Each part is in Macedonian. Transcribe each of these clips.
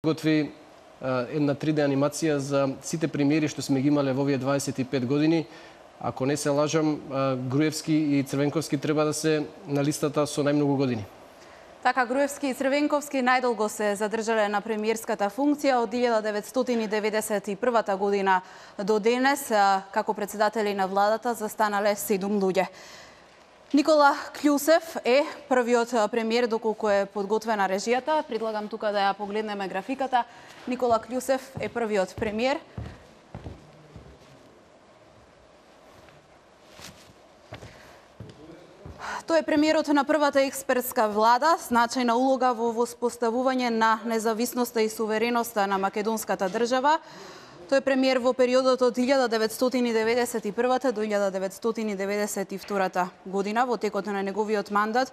готви една 3D анимација за сите премиери што сме ги имале во овие 25 години. Ако не се лажам, Груевски и Црвенковски треба да се на листата со најмногу години. Така, Груевски и Црвенковски најдолго се задржале на премиерската функција од 1991 година до денес, како председатели на владата застанале 7 луѓе. Никола Кљусев е првиот премиер, доколку е подготвена режијата. Предлагам тука да ја погледнеме графиката. Никола Кљусев е првиот премиер. Тој е премиерот на првата експертска влада, значајна улога во воспоставување на независноста и сувереноста на македонската држава. Тој е премиер во периодот од 1991 до 1992 година. Во текот на неговиот мандат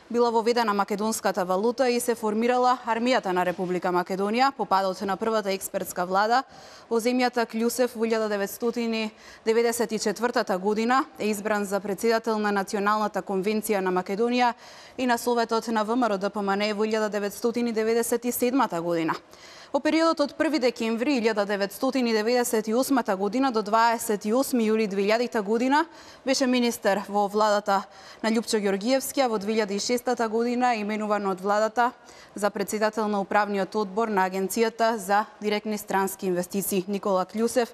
била воведена македонската валута и се формирала армијата на Република Македонија. По падот на првата експертска влада во земјата, Кљусев во 1994 година е избран за председател на Националната конвенција на Македонија и на Советот на ВМРО-ДПМН во 1997 година. Во периодот од 1 декември 1998 година до 28 јули 2000 година беше министер во владата на Љупчо Ѓорѓиевски, а во 2006 година именуван од владата за председател на управниот одбор на Агенцијата за директни странски инвестиции. Никола Кљусев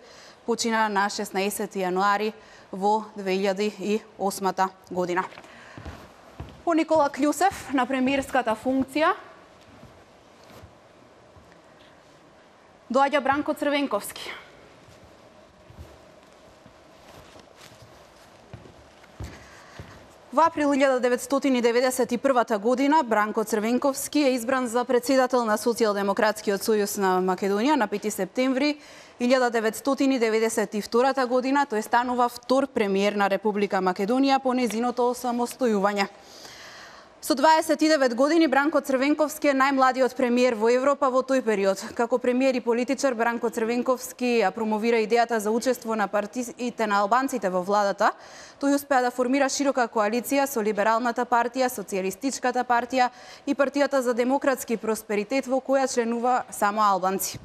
почина на 16 јануари во 2008 година. По Никола Кљусев на премиерската функција доаѓа Бранко Црвенковски. Во април 1991 година Бранко Црвенковски е избран за председател на Социјалдемократскиот сојуз на Македонија на 5 септември 1992 година. Тој станува втор премиер на Република Македонија по нејзиното осамостојување. Со 29 години Бранко Црвенковски е најмладиот премиер во Европа во тој период. Како премиер и политичар, Бранко Црвенковски ја промовира идејата за учество на партиите на албанците во владата. Тој успеа да формира широка коалиција со Либералната партија, Социјалистичката партија и Партијата за демократски просперитет, во која членува само албанци.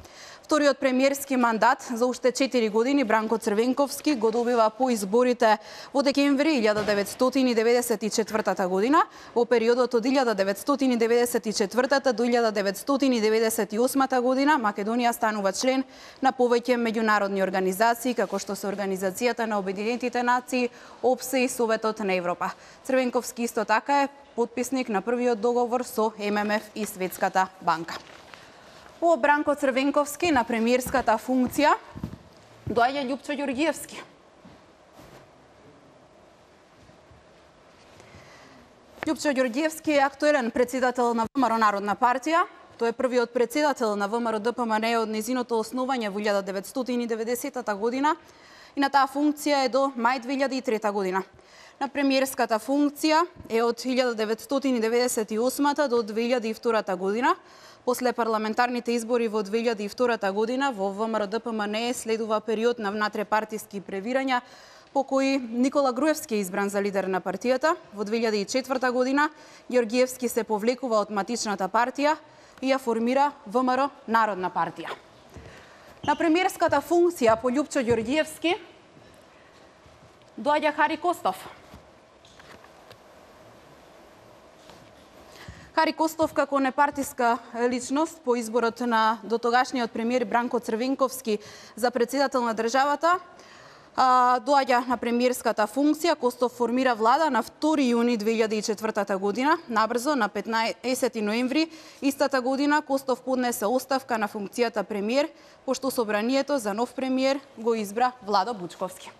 Вториот премиерски мандат за уште 4 години Бранко Црвенковски го добива по изборите во декември 1994 година. Во периодот од 1994 до 1998 година Македонија станува член на повеќе меѓународни организации, како што се Организацијата на Обединетите нации, ОПСЕ и Советот на Европа. Црвенковски исто така е потписник на првиот договор со ММФ и Светската банка. По Бранко Црвенковски на премиерската функција доаѓа Љупчо Ѓорѓиевски. Љупчо Ѓорѓиевски е актуелен председател на ВМРО Народна партија. Тој е првиот председател на ВМРО-ДПМН од незиното основање во 1990 година и на таа функција е до мај 2003 година. На премиерската функција е од 1998 до 2002 година. После парламентарните избори во 2002 година во ВМРО-ДПМН следува период на внатрепартиски превирања по кои Никола Груевски е избран за лидер на партијата. Во 2004 година Ѓорѓиевски се повлекува од матичната партија и ја формира ВМРО Народна партија. На премиерската функција по Љупчо Ѓорѓиевски доаѓа Хари Костов. Хари Костов како непартиска личност по изборот на дотогашниот премиер Бранко Црвенковски за председател на државата доаѓа на премиерската функција. Костов формира влада на 2 јуни 2004 година. Набрзо на 15 ноември истата година Костов поднесе оставка на функцијата премиер, пошто собранието за нов премиер го избра Владо Бучковски.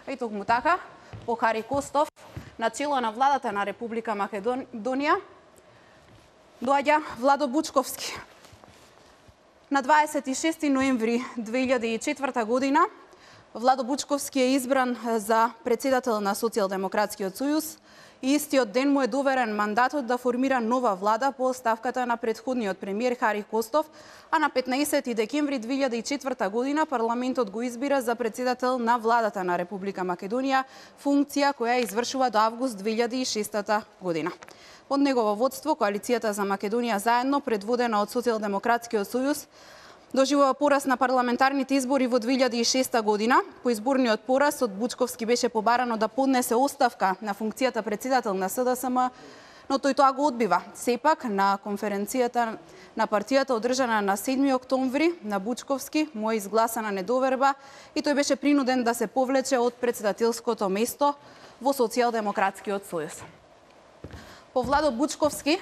И токму така, по Хари Костов на чело на владата на Република Македонија доаѓа Владо Бучковски. На 26 ноември 2004 година Владо Бучковски е избран за председател на Социјалдемократскиот сојуз и истиот ден му е доверен мандатот да формира нова влада по оставката на претходниот премиер Хари Костов, а на 15 декември 2004 година парламентот го избира за председател на владата на Република Македонија, функција која извршува до август 2006 година. Под негово водство, Коалицијата за Македонија заедно, предводена од Социјалдемократскиот сојуз, доживува пораз на парламентарните избори во 2006 година. По изборниот пораз од Бучковски беше побарано да поднесе оставка на функцијата председател на СДСМ, но тој тоа го одбива. Сепак, на конференцијата на партијата одржана на 7 октомври на Бучковски му е изгласана недоверба и тој беше принуден да се повлече од председателското место во Социјалдемократскиот сојуз. По Владо Бучковски,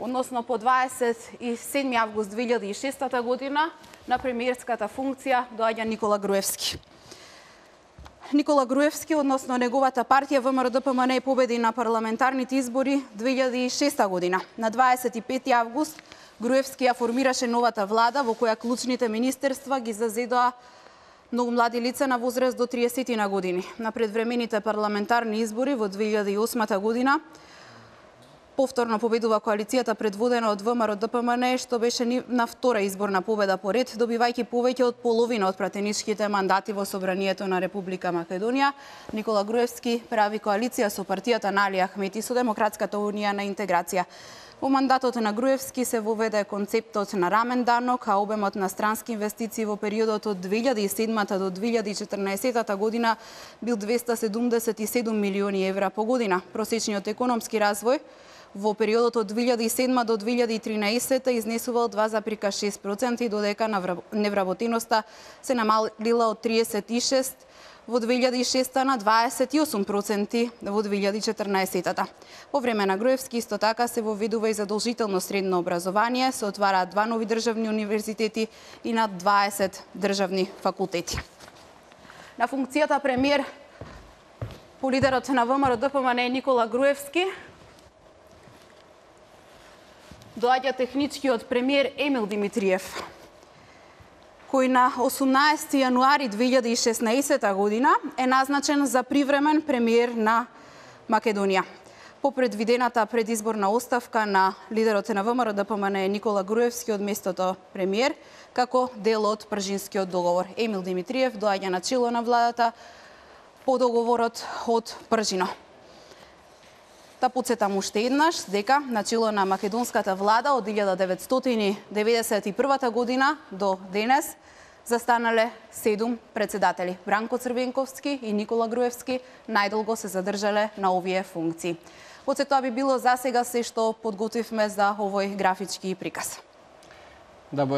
односно по 27 август 2006 година, на премиерската функција доаѓа Никола Груевски. Никола Груевски, односно неговата партија ВМРО-ДПМНЕ победи на парламентарните избори 2006 година. На 25 август Груевски ја формираше новата влада во која клучните министерства ги зазедоа многу млади лица на возраст до 30 на години. На предвремените парламентарни избори во 2008 година повторно победува коалицијата предводена од ВМРО-ДПМНЕ, што беше на втора изборна победа по ред, добивајќи повеќе од половина од пратеничките мандати во Собранието на Република Македонија. Никола Груевски прави коалиција со партијата на Али Ахмети со Демократската унија на интеграција. Во мандатот на Груевски се воведе концептот на рамен данок, а обемот на странски инвестиции во периодот од 2007 до 2014 година бил 277 милиони евра по година. Просечниот економски развој во периодот од 2007 до 2013 изнесувал 2,6%, додека невработеноста се намалила од 36 во 2006 на 28% во 2014. По време на Груевски исто така се воведува и задолжително средно образование, се отвараат 2 нови државни универзитети и над 20 државни факултети. На функцијата премиер по лидерот на ВМРО-ДПМНЕ Никола Груевски доаѓа техничкиот премиер Емил Димитриев, кој на 18 јануари 2016 година е назначен за привремен премиер на Македонија. По предвидената предизборна оставка на лидерот на ВМРО-ДПМНЕ Никола Груевски од местото премиер, како дел од Пржинскиот договор. Емил Димитриев доаѓа на чело на владата по договорот од Пржино. Да подсетам уште еднаш дека на чело на македонската влада од 1991 година до денес застанале 7 председатели. Бранко Црвенковски и Никола Груевски најдолго се задржале на овие функции. Тоа би било за сега се што подготвивме за овој графички приказ.